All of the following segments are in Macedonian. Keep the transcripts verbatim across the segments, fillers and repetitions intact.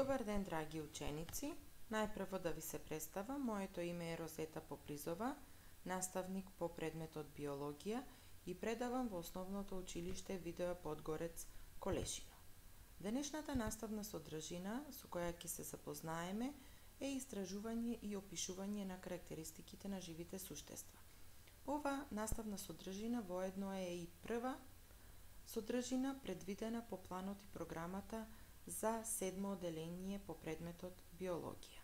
Добар ден, драги ученици! Најпрво да ви се представам, моето име е Розета Попризова, наставник по предметот биологија и предавам во Основното училиште Видоа Подгорец, Колешино. Денешната наставна содржина со која ќе се запознаеме е истражување и опишување на карактеристиките на живите суштества. Ова наставна содржина воедно е и прва содржина предвидена по планот и програмата за седмо оделение по предметот биологија.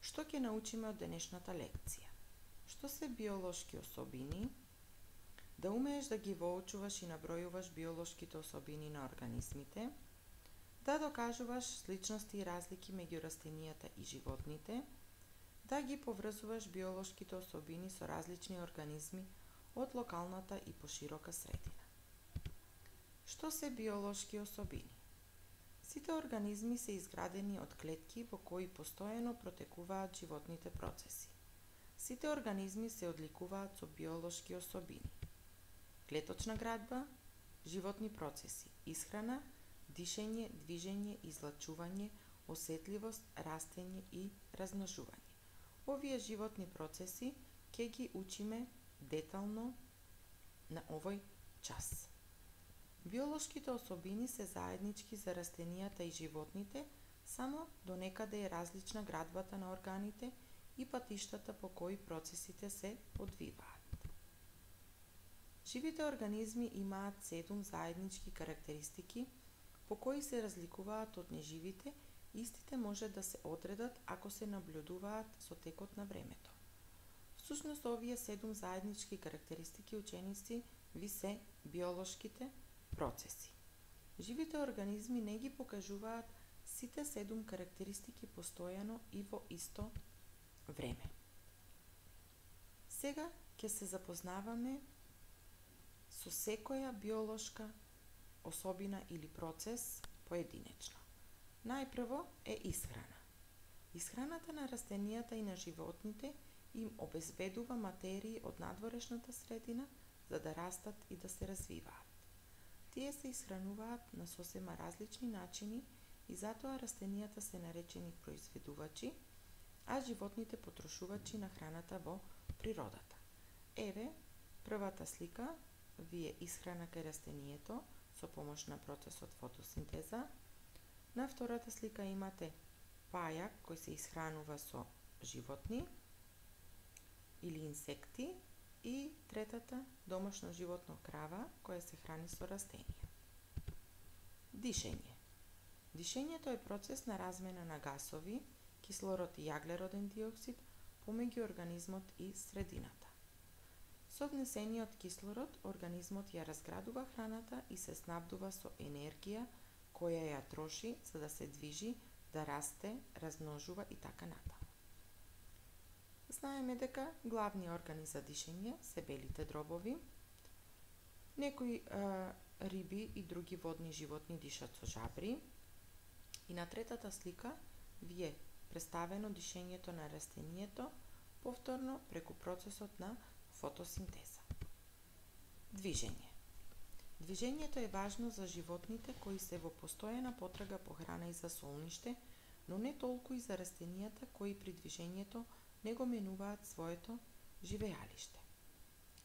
Што ќе научиме од денешната лекција? Што се биолошки особини? Да умееш да ги воочуваш и набројуваш биолошките особини на организмите, да докажуваш сличности и разлики меѓу растенијата и животните, да ги поврзуваш биолошките особини со различни организми од локалната и поширока средина. Што се биолошки особини? Сите организми се изградени од клетки во кои постојано протекуваат животните процеси. Сите организми се одликуваат со биолошки особини: клеточна градба, животни процеси, исхрана, дишење, движење, излачување, осетливост, растење и размножување. Овие животни процеси ќе ги учиме детално на овој час. Биолошките особини се заеднички за растенијата и животните, само до некаде е различна градбата на органите и патиштата по кои процесите се одвиваат. Живите организми имаат седум заеднички карактеристики по кои се разликуваат од неживите, истите може да се одредат ако се наблюдуваат со текот на времето. Всушност, овие седум заеднички карактеристики, ученици, ви се биолошките процеси. Живите организми не ги покажуваат сите седум карактеристики постојано и во исто време. Сега ќе се запознаваме со секоја биолошка особина или процес поединечно. Најпрво е исхрана. Исхраната на растенијата и на животните им обезбедува материи од надворешната средина за да растат и да се развиваат. Тие се исхрануваат на сосема различни начини и затоа растенијата се наречени произведувачи, а животните потрошувачи на храната во природата. Еве, првата слика ви е исхрана кај растенијето со помош на процесот фотосинтеза. На втората слика имате пајак кој се исхранува со животни или инсекти, и третата домашно животно крава која се храни со растенија. Дишење. Дишењето е процес на размена на гасови, кислород и јаглероден диоксид помеѓу организмот и средината. Со внесениот кислород организмот ја разградува храната и се снабдува со енергија која ја троши за да се движи, да расте, размножува и така натаму. Знаеме дека главни органи за дишење се белите дробови. Некои е, риби и други водни животни дишат со жабри. И на третата слика ви е представено дишењето на растенијето, повторно преку процесот на фотосинтеза. Движење. Движењето е важно за животните кои се во постојана потрага по храна и за солниште, но не толку и за растенијата кои при движењето не го менуваат своето живеалиште.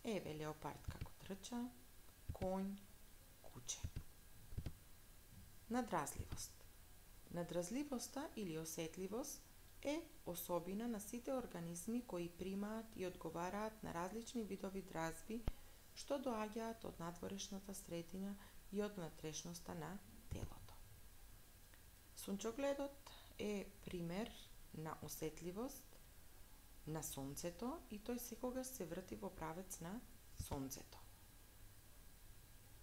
Еве леопард како трча, конј, куче. Надразливост. Надразливоста или осетливост е особина на сите организми кои примаат и одговараат на различни видови дразби што доаѓаат од надворешната средина и од внатрешноста на телото. Сончогледот е пример на осетливост на сонцето и тој секогаш се врти во правец на сонцето.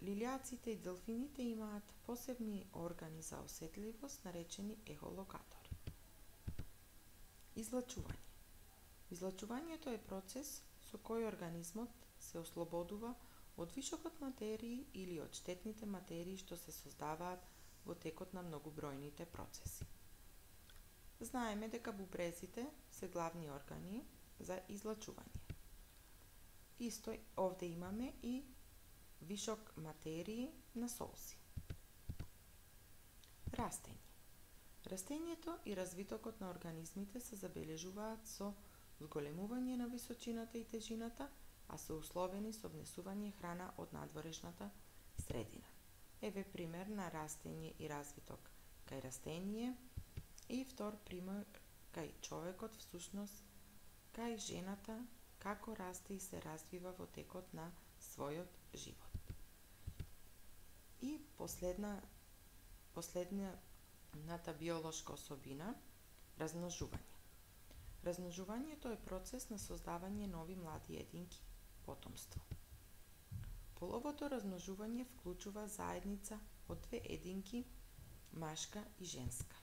Лилјаците и делфините имаат посебни органи за осетливост наречени ехолокатори. Излачување. Излачувањето е процес со кој организмот се ослободува од вишокот материи или од штетните материи што се создаваат во текот на многобројните процеси. Знаеме дека бубрезите се главни органи за излачување. Исто овде имаме и вишок материи на солзи. Растење. Растењето и развитокот на организмите се забележуваат со зголемување на височината и тежината, а се условени со внесување храна од надворешната средина. Еве пример на растење и развиток кај растение и втор пример кај човекот, всушност кај жената, како расте и се развива во текот на својот живот. И последна, последната биолошка особина, размножување. Размножувањето е процес на создавање нови млади единки, потомство. Половото размножување вклучува заедница од две единки, машка и женска.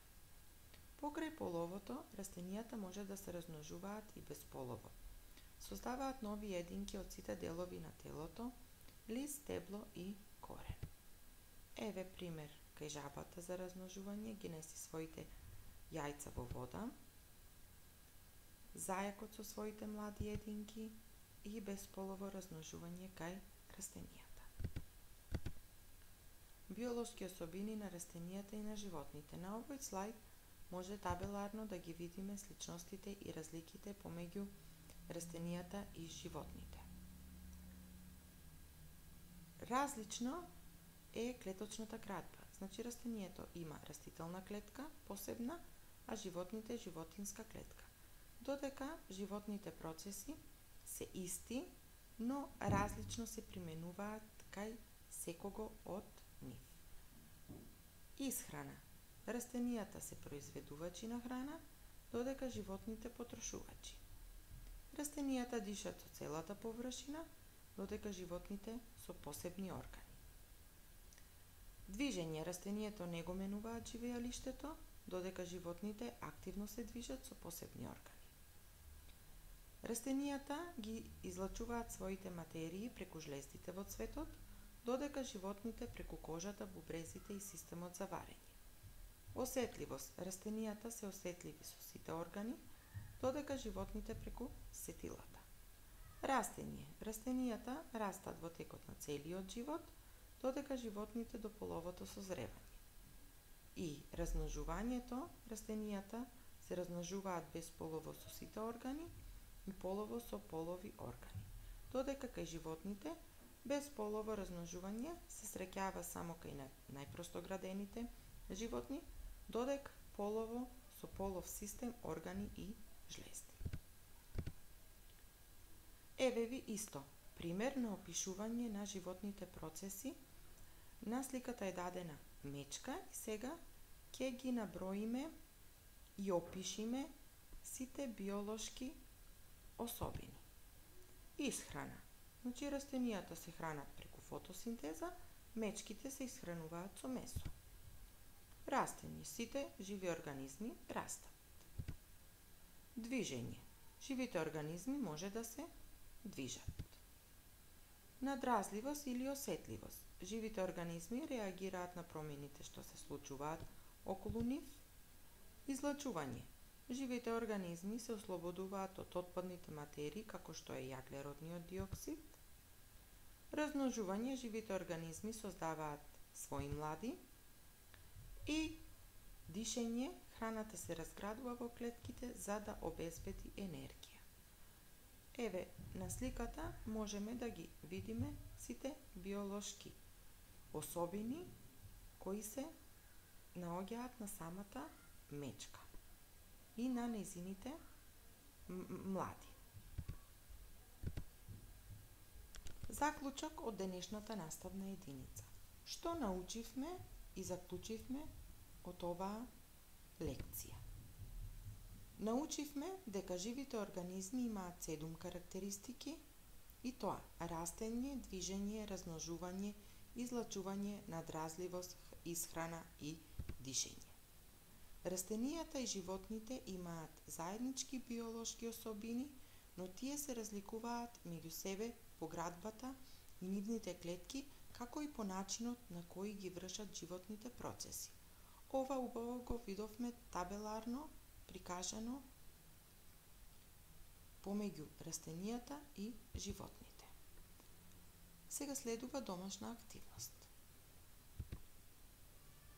Покрај половото, растенијата може да се размножуваат и безполово. Создаваат нови единки од сите делови на телото, лист, стебло и корен. Еве пример кај жабата за размножување, ги неси своите јајца во вода, зајакот со своите млади единки и безполово размножување кај растенијата. Биолошки особини на растенијата и на животните. На овој слајд може табеларно да ги видиме сличностите и разликите помеѓу растенијата и животните. Различно е клеточната градба. Значи растенијето има растителна клетка, посебна, а животните животинска клетка. Додека животните процеси се исти, но различно се применуваат кај секого од нив. Исхрана. Растенијата се произведувачи на храна, додека животните потрошувачи. Растенијата дишат со целата површина, додека животните со посебни органи. Движење. Растенијето не го менуваат живеалиштето, додека животните активно се движат со посебни органи. Растенијата ги излачуваат своите материи преку жлездите во цветот, додека животните преку кожата, бубрезите и системот за варење. Осетливост. Растенијата се осетливи со сите органи, додека животните преку сетилата. Растење. Растенијата растат во текот на целиот живот, додека животните до половото созревање. И размножувањето. Растенијата се размножуваат безполово со сите органи и полово со полови органи, додека кај животните безполово размножување се среќава само кај најпростоградените животни, додека полово со полов систем, органи и жлезди. Еве ви исто пример на опишување на животните процеси. На сликата е дадена мечка и сега ќе ги наброиме и опишиме сите биолошки особини. Исхрана. Значи растенијата се хранат преку фотосинтеза, мечките се исхрануваат со месо. Растење. Сите живи организми растат. Движење. Живите организми може да се движат. Надразливост или осетливост. Живите организми реагираат на промените што се случуваат околу нив. Излачување. Живите организми се ослободуваат од отпадните материи, како што е јаглеродниот диоксид. Размножување. Живите организми создаваат своји млади. И дишење. Храната се разградува во клетките за да обезбеди енергија. Еве, на сликата можеме да ги видиме сите биолошки особини кои се наоѓаат на самата мечка и на нејзините млади. Заклучок од денешната наставна единица. Што научивме и заклучивме од оваа лекција? Научивме дека живите организми имаат седум карактеристики, и тоа растење, движење, размножување, излачување, надразливост, исхрана и дишење. Растенијата и животните имаат заеднички биолошки особини, но тие се разликуваат меѓу себе по градбата и нивните клетки, како и по начинот на кој ги вршат животните процеси. Ова убаво го видовме табеларно прикажано помеѓу растенијата и животните. Сега следува домашна активност.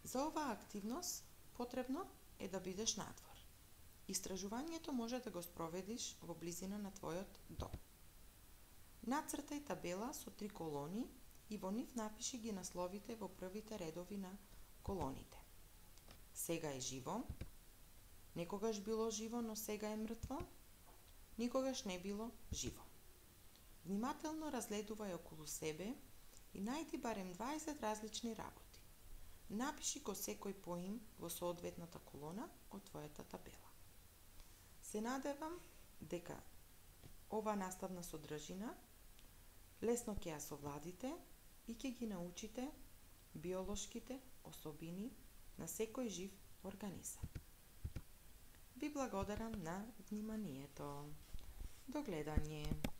За оваа активност потребно е да бидеш надвор. Истражувањето може да го спроведиш во близина на твојот дом. Нацртај табела со три колони и во нив напиши ги насловите во првите редови на колоните. Сега е живо, некогаш било живо, но сега е мртво, никогаш не било живо. Внимателно разгледувај околу себе и најди барем дваесет различни работи. Напиши го секој поим во соодветната колона од твојата табела. Се надевам дека ова наставна содржина лесно ќе ја совладите и ќе ги научите биолошките особини на секој жив организам. Ви благодарам на вниманието. До гледање.